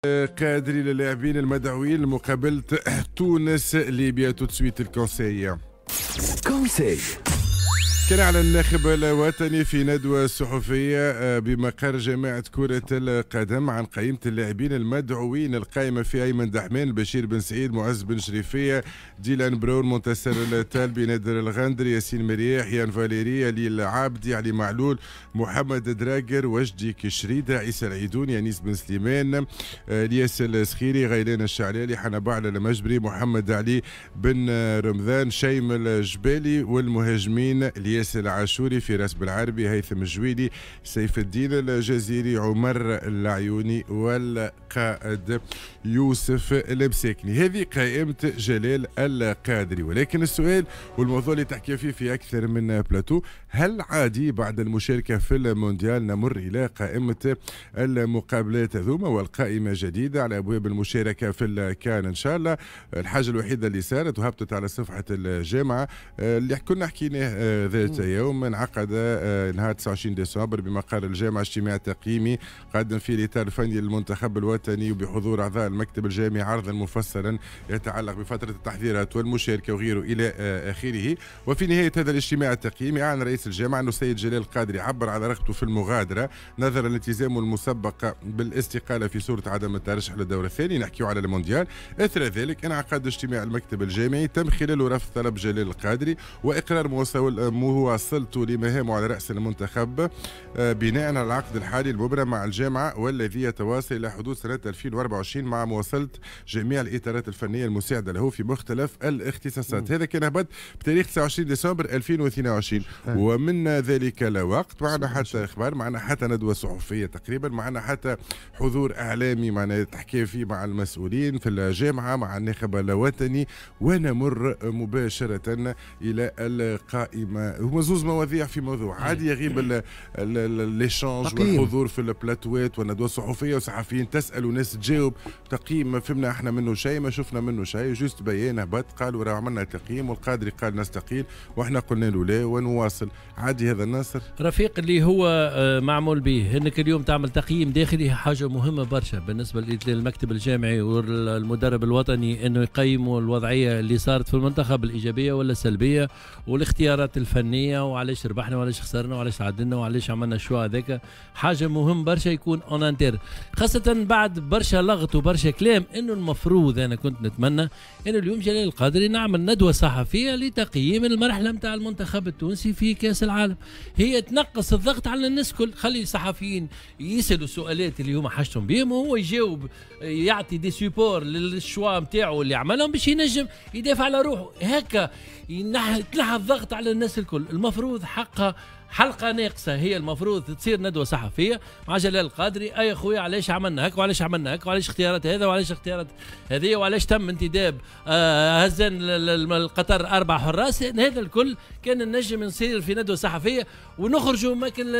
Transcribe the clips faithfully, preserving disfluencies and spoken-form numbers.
القادري للاعبين المدعوين لمقابلة تونس ليبيا. tout de suite ال conseil. conseil. كان أعلن الناخب الوطني في ندوة صحفية آه، بمقر جامعة كرة القدم عن قائمة اللاعبين المدعوين. القائمة في أيمن دحمان، بشير بن سعيد، معز بن شريفية، ديلان برون، منتصر الطالبي، نادر الغندري، ياسين مرياح، يان فاليري، علي العابدي، علي معلول، محمد دراجر، وجدي كشريدة، عيسى العيدوني، أنيس بن سليمان، آه، الياس السخيري، غيلان الشعلالي، حنبعل المجبري، محمد علي بن رمضان، شيم الجبالي، والمهاجمين الياس العاشوري، فراس بالعربي، هيثم الجويلي، سيف الدين الجزيري، عمر العيوني، والقائد يوسف المساكني. هذه قائمة جلال القادري. ولكن السؤال والموضوع اللي تحكي فيه في أكثر من بلاتو، هل عادي بعد المشاركة في المونديال نمر إلى قائمة المقابلات هذوما والقائمة جديدة على أبواب المشاركة في الكان إن شاء الله؟ الحاجة الوحيدة اللي صارت وهبطت على صفحة الجامعة آه، اللي كنا حكيناه آه، ذات يوم، انعقد آه، نهار تسعة وعشرين ديسمبر بمقر الجامعة اجتماع تقييمي قدم فيه الإطار الفني للمنتخب الوطني وبحضور أعضاء المكتب الجامعي عرضا مفصلا يتعلق بفترة التحضيرات والمشاركة وغيره إلى آخره. وفي نهاية هذا الاجتماع التقييمي أعلن رئيس الجامعة أنه السيد جلال القادري عبر على رغبته في المغادرة نظرا لالتزامه المسبق بالاستقالة في صورة عدم الترشح للدور الثاني، نحكي على المونديال. إثر ذلك انعقد اجتماع المكتب الجامعي تم خلاله رفض طلب جلال القادري وإقرار مواصلته لمهامه على رأس المنتخب آه، بناء على العقد الحالي المبرم مع الجامعة والذي يتواصل إلى حدود سنة ألفين وأربعة وعشرين، مع مواصلة جميع الإطارات الفنية المساعدة له في مختلف الاختصاصات. هذا كان هبط بتاريخ تسعة وعشرين ديسمبر ألفين واثنين وعشرين. ومن ذلك الوقت معنا حتى اخبار، معنا حتى ندوه صحفية تقريبا، معنا حتى حضور اعلامي معنا تحكي فيه مع المسؤولين في الجامعه، مع الناخب الوطني، ونمر مباشرة الى القائمه. هما زوز مواضيع في موضوع. عادي يغيب l'échange والحضور في البلاتوات والندوه الصحفية وصحفيين تسال وناس تجاوب، تقييم ما فهمنا احنا منه شيء، ما شفنا منه شيء، juste بيان هبط قالوا راه عملنا تقييم والقادري قال نستقيل واحنا قلنا له لا ونواصل. عادي هذا الناصر؟ رفيق، اللي هو آه، معمول به انك اليوم تعمل تقييم داخلي حاجة مهمة برشا بالنسبة للمكتب الجامعي والمدرب الوطني، انه يقيموا الوضعية اللي صارت في المنتخب، الايجابية ولا السلبيه، والاختيارات الفنيه، وعلاش ربحنا وعلاش خسرنا وعلاش عدلنا وعلاش عملنا ال choix هذاك. حاجة مهم برشا يكون en interne، خاصة بعد برشا لغط وبرشا كلام، انه المفروض انا كنت نتمنى انه اليوم جلال القادري نعمل ندوه صحفية لتقييم المرحلة نتاع المنتخب التونسي في كاس العالم. هي تنقص الضغط على الناس الكل، خلي الصحفيين يسالوا السؤالات اللي هما حاجتهم بهم وهو يجاوب، يعطي des supports لل choix نتاعو اللي عملهم باش ينجم يدافع على روحه. هكا تنحى الضغط على الناس الكل. المفروض حقها حلقة ناقصه هي، المفروض تصير ندوه صحفية مع جلال القادري: اي خويا، علاش عملنا هكا وعلاش عملنا هكا وعلاش اختيارات هذا وعلاش اختيارات هذه وعلاش تم انتداب آه هزان القطر اربع حراس؟ هذا الكل كان النجم نصير في ندوه صحفية ونخرجوا ماكل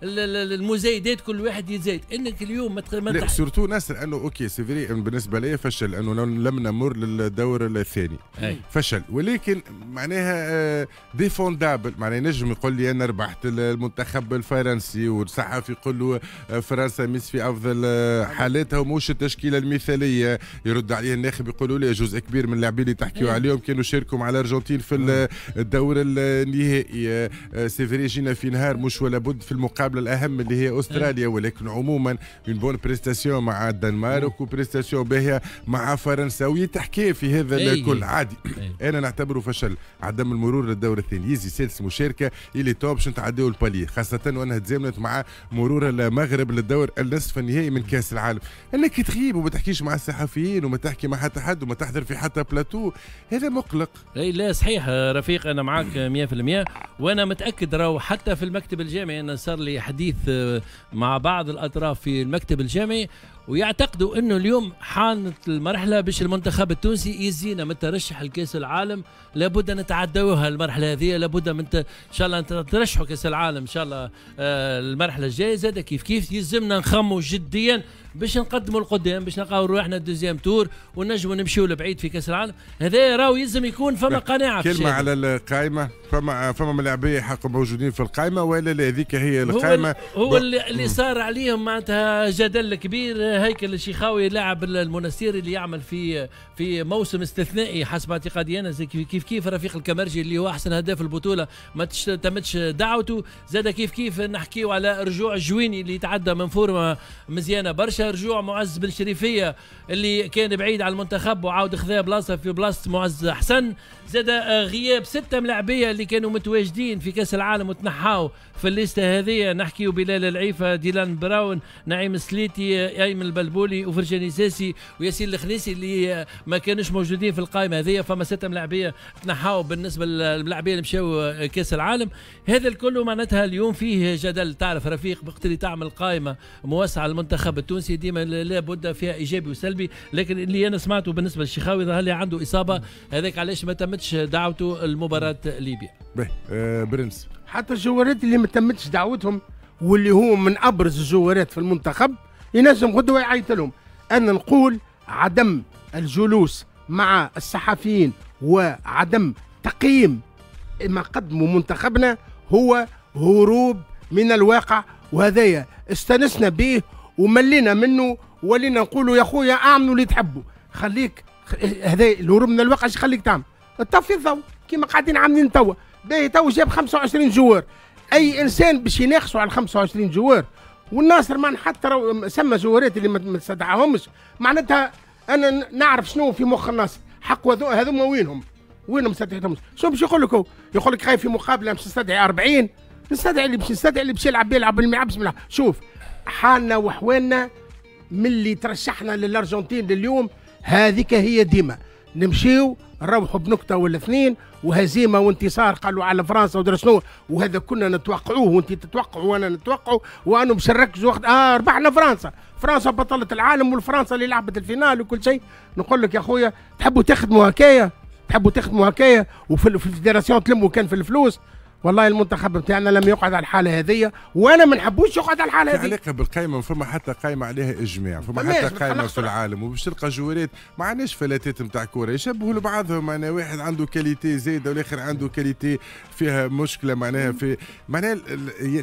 المزايدات، كل واحد يزايد انك اليوم ما لا، surtout ناصر انه OK، c'est vrai، بالنسبة لي فشل انه لم نمر للدور الثاني. أي. فشل، ولكن معناها défendable، معناها نجم يقول لي انا ربحت المنتخب الفرنسي، والصحفي يقول له آه، فرنسا مش في افضل آه، حالاتها ومش التشكيلة المثاليه، يرد عليه الناخب يقولوا لي جزء كبير من اللاعبين اللي تحكيوا عليهم كانوا شاركوا مع الارجنتين في الدور النهائي. c'est vrai جينا في نهار مش ولا بد في المقابلة الاهم اللي هي استراليا، ولكن عموما une bonne prestation مع الدنمارك و prestation باهيه مع فرنسا ويتحكي في هذا الكل. عادي، انا نعتبره فشل عدم المرور للدور الثاني. يزي سادس مشاركه، il est temps باش نتعداو ال palier، خاصة وانها تزامنت مع مرور المغرب للدور النصف النهائي من كاس العالم. انك تغيب وما تحكيش مع الصحفيين وما تحكي مع حتى حد وما تحضر في حتى بلاتو، هذا مقلق. اي لا صحيح رفيق، انا معك مية في المية، وانا متاكد راهو حتى في المكتب الجامعي، انا صار لي حديث مع بعض الاطراف في المكتب الجامعي ويعتقدوا انه اليوم حانت المرحلة باش المنتخب التونسي يزينا من ترشح الكاس العالم، لابد ان نتعدوها المرحلة هذه، لابد من ت... ان شاء الله ترشحوا كاس العالم ان شاء الله آه المرحلة الجاية زاد كيف كيف يلزمنا نخموا جديا. باش نقدموا القدام، باش نلقاو روحنا deuxième tour ونجموا نمشيو لبعيد في كاس العالم. هذا راهو يلزم يكون فما قناعة. كلمة على القائمة، فما فما ملاعبيه حق موجودين في القائمة ولا لا؟ هذيك هي القائمة. هو, هو اللي, اللي صار عليهم معناتها جدل كبير. هيكل الشيخاوي لاعب المنستير اللي يعمل في في موسم استثنائي حسب اعتقادي انا، كيف كيف رفيق الكمرجي اللي هو احسن هداف البطولة ما تمتش دعوته، زاد كيف كيف نحكيو على رجوع الجويني اللي تعدى من فورمه مزيانه برشا، رجوع معز بن شريفيه اللي كان بعيد على المنتخب وعاود خذا بلاصة في بلاصة معز حسن، زاد غياب ستة ملاعبيه اللي كانوا متواجدين في كاس العالم وتنحاو في الليستة هذه، نحكيو بلال العيفه، ديلان براون، نعيم السليتي، ايمن البلبولي، وفرجاني ساسي، وياسين الخنيسي اللي ما كانوش موجودين في القائمة هذه. فما ستة ملاعبيه تنحاو بالنسبة للملاعبيه اللي مشاو كاس العالم. هذا الكل معناتها اليوم فيه جدل. تعرف رفيق وقت اللي تعمل قائمة موسعه للمنتخب التونسي ديما لابد فيها ايجابي وسلبي، لكن اللي انا سمعته بالنسبة للشيخاوي ظهر لي عنده اصابه، هذاك علاش ما تمتش دعوته لمباراة ليبيا. باهي أه برنس، حتى الجوارات اللي ما تمتش دعوتهم واللي هو من ابرز الجوارات في المنتخب ينجم غدوه يعيط لهم. انا نقول عدم الجلوس مع الصحفيين وعدم تقييم ما قدموا منتخبنا هو هروب من الواقع، وهذايا استنسنا به وملينا منه ولينا نقولوا يا خويا اعملوا اللي تحبوا، خليك هذا الهروب من الواقع اش يخليك تعمل؟ طفي الضوء كيما قاعدين عاملين توا. باهي تو جاب خمسة وعشرين joueur، اي انسان باش يناقشوا على خمسة وعشرين joueur، والناصر ما حتى سمى جوارات اللي ما استدعاهمش، معناتها انا نعرف شنو في مخ الناصر، حق هذوما وينهم؟ وينهم استدعيتهمش؟ شنو باش يقول لك هو؟ يقول لك خايف في مقابله باش نستدعي أربعين، نستدعي اللي باش نستدعي اللي باش يلعب يلعب اللي ما يلعبش. شوف حالنا وحوالنا من اللي ترشحنا للارجنتين لليوم هذيك هي ديما نمشيو نروحوا بنكته ولا اثنين وهزيمة وانتصار قالوا على فرنسا ودرا شنو، وهذا كنا نتوقعوه وانت تتوقعوا وانا نتوقعه، وانه باش نركزوا وقت اه ربحنا فرنسا، فرنسا بطلة العالم والفرنسا اللي لعبت ال finale وكل شيء. نقول لك يا خويا تحبوا تخدموا هكايا، تحبوا تخدموا هكايا وفي ال fédération تلموا كان في الفلوس. والله المنتخب بتاعنا لم يقعد على الحالة هذه، وانا ما نحبوش يقعد على الحالة هذه. علاقة بالقائمه، فما حتى قائمة عليها اجماع، فما حتى قائمة في العالم، وباش تلقى جوارات ما عندناش فلاتات نتاع كورة يشبهوا لبعضهم، معناها واحد عنده qualité زايدة والاخر عنده qualité فيها مشكلة، معناها في معناها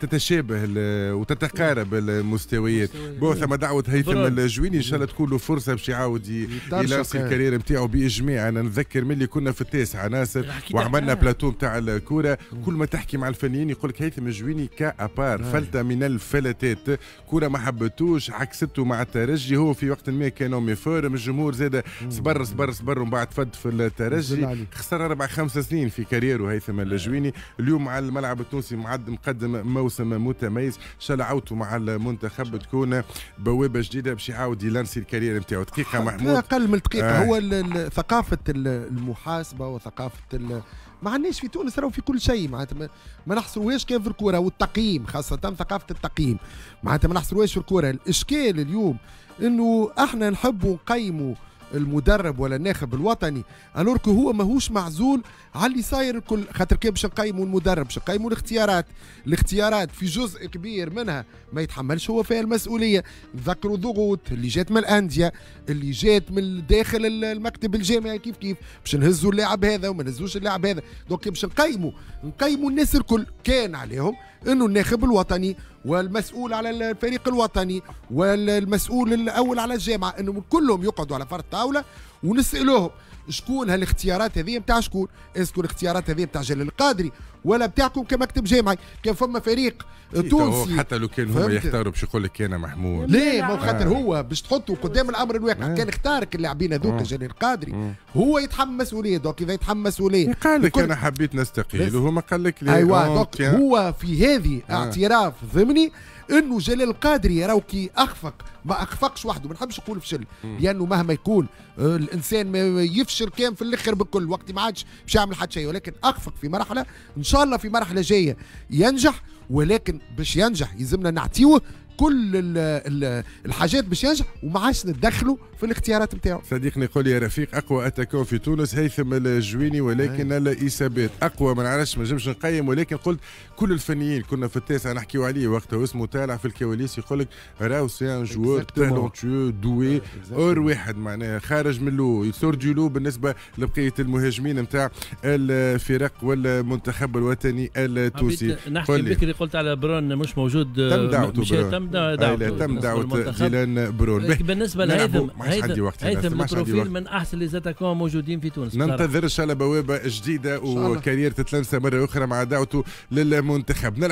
تتشابه وتتقارب المستويات. bon ثم دعوه هيثم الجويني ان شاء الله تكون له فرصة باش يعاود يلانسي ال carrière نتاعو باجماع. انا نتذكر ملي كنا في التاسعة ناصر وعملنا بلاتو نتاع الكورة، كل ما تحكي مع الفنيين يقول لك هيثم الجويني cas à part، فلتة من الفلتات، كرة ما حبتوش عكسته مع الترجي، هو في وقت ما كان méforme، الجمهور زاد صبر صبر صبر ومن بعد فد في الترجي، خسر اربع خمس سنين في carrière و هيثم الجويني. اليوم مع الملعب التونسي معد مقدم موسم متميز، ان شاء الله عودته مع المنتخب تكون بوابه جديدة باش يعاود يلانسي ال carrière نتاعو. دقيقة محمود، اقل من دقيقة. آه. هو ثقافة المحاسبة وثقافة ما عندناش في تونس، راهو في كل شيء معناتها ما نحصروهاش كان في الكورة والتقييم، خاصة ثقافة التقييم معناتها ما نحصروهاش في الكورة. الاشكال اليوم انه احنا نحبوا نقيموا المدرب ولا الناخب الوطني alors que هو ماهوش معزول على اللي صاير الكل، خاطر كي باش نقيموا المدرب باش نقيموا الاختيارات، الاختيارات في جزء كبير منها ما يتحملش هو فيها المسؤولية. نذكروا ضغوط اللي جات من الاندية، اللي جات من داخل المكتب الجامعي، كيف كيف باش نهزوا اللاعب هذا وما نهزوش اللاعب هذا. donc باش نقيموا نقيموا الناس الكل، كان عليهم انه الناخب الوطني والمسؤول على الفريق الوطني والمسؤول الاول على الجامعة انهم كلهم يقعدوا على فرد طاولة ونسالوهم شكون هالاختيارات هذه نتاع شكون، est-ce que الاختيارات هذه نتاع جلال القادري ولا بتاعكم كمكتب جامعي. كان فما فريق تونسي حتى لو كان هما يختاروا باش يقول لك انا محمود ليه، ما خاطر هو باش تحطه قدام الامر الواقع. آه. كان اختارك اللاعبين هذوك جلال القادري هو يتحمل مسؤولية، donc اذا يتحمل مسؤولية قال لك انا حبيت نستقيل وهو ما قال لك ليه. ايوا donc هو في هذه آه. اعتراف ضمني انه جلال القادري راهو كي اخفق ما اخفقش وحده، ما نحبش نقول فشل لانه مهما يكون الانسان ما يفشل كان في الاخر بكل وقت ما عادش باش يعمل حتى شيء، ولكن اخفق في مرحلة ان شاء الله في مرحلة جاية ينجح، ولكن باش ينجح يلزمنا نعطيوه كل ال الحاجات باش ينجح، وما عادش نتدخلوا في الاختيارات نتاعو. صديقني يقول يا رفيق اقوى attaquant في تونس هيثم الجويني، ولكن الاصابات اقوى ما نعرفش، ما نجمش نقيم، ولكن قلت كل الفنيين كنا في التاسعة نحكيو عليه وقتها واسمه طالع في الكواليس، يقول لك راهو c'est un joueur talentueux doué hors واحد، معناها خارج من lot، il sort du lot بالنسبة لبقية المهاجمين نتاع الفرق والمنتخب الوطني التونسي. نحكي بكري قلت على برون مش موجود، تم دعوته، تم دعوته، تم دعوة ديلان برون. بالنسبة لهيثم، هيثم هيثم ال profil من احسن les attaquants موجودين في تونس. ننتظر ان شاء الله بوابه جديدة و carrière تتلمسه مرة اخرى مع دعوته للمنتخب.